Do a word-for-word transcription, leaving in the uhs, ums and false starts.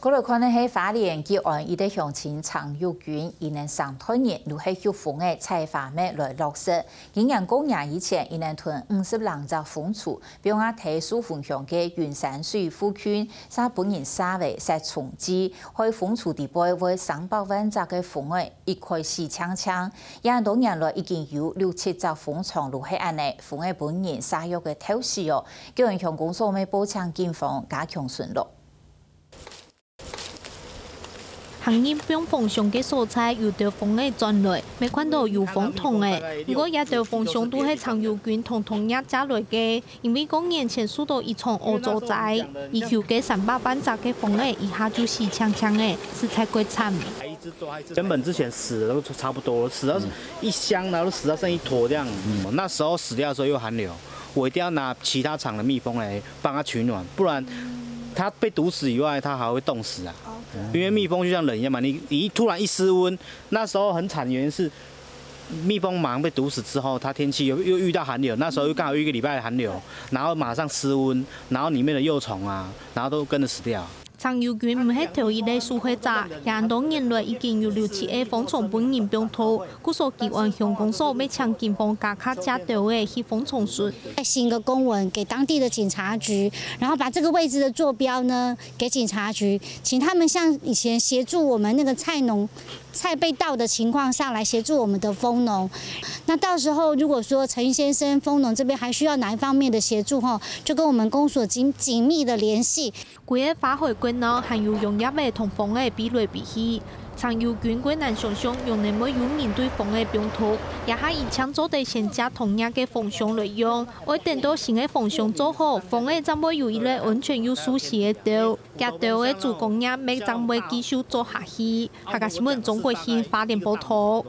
過來看个係花蓮吉安一个鄉親程玉君，佢等成團人都係畜蜂仔採花蜜來落實。今年過年以前，佢等囤五十零隻蜂櫥，放啊在壽豐鄉个雲山水附近，煞分人射垤設蟲劑，害蜂櫥底背會成百萬隻个蜂仔一概死淨淨。這恁多年來已經有六七隻蜂場都係恁呢，蜂仔分人射藥个毒死哦。吉安鄉公所乜報請警方加強巡邏。 行人放蜂箱个所在，有兜蜂仔轉來，乜看到有蜂筒仔。毋過，這兜蜂箱都係程玉君同同業借來个，因為過年前受到一場屙糟災，佢救个三百萬隻个蜂仔，一下就死淨淨仔，實在過慘。原本之前死的都差不多了，死到一箱，然後都死到剩一坨這樣。那時候死掉的時候又寒流，我一定要拿其他場的蜜蜂來幫它取暖，不然它被毒死以外，它還會凍死啊。因為蜜蜂就像人一樣嘛，你你突然一失溫，那時候很慘的原因是，蜜蜂马上被毒死之后，它天气又又遇到寒流，那时候又刚好有一个礼拜的寒流，然后马上失温，然后里面的幼虫啊，然后都跟着死掉。程玉君毋係頭一个受害者，這恁多年來已經有六七个蜂場分人放忒，故所吉安鄉公所乜請警方加卡車兜仔去蜂場巡。再新一个公文给当地的警察局，然后把这个位置的坐标呢给警察局，请他们像以前协助我们那个菜农、菜被盗的情况下来协助我们的蜂农。那到时候如果说陈先生蜂农这边还需要哪一方面的协助吼，就跟我们公所紧紧密的联系。 歸个花海國鬧還有揚蝶仔同蜂仔飛來飛去。程玉君過難想像，仰能會有人對蜂仔放毒，這下佢淨做得先借同業个蜂箱來用，愛等到新个蜂箱做好，蜂仔正會有一个安全又舒適个竇。厥竇个主工業乜正會繼續做下去。客家新聞鍾國興花蓮報導。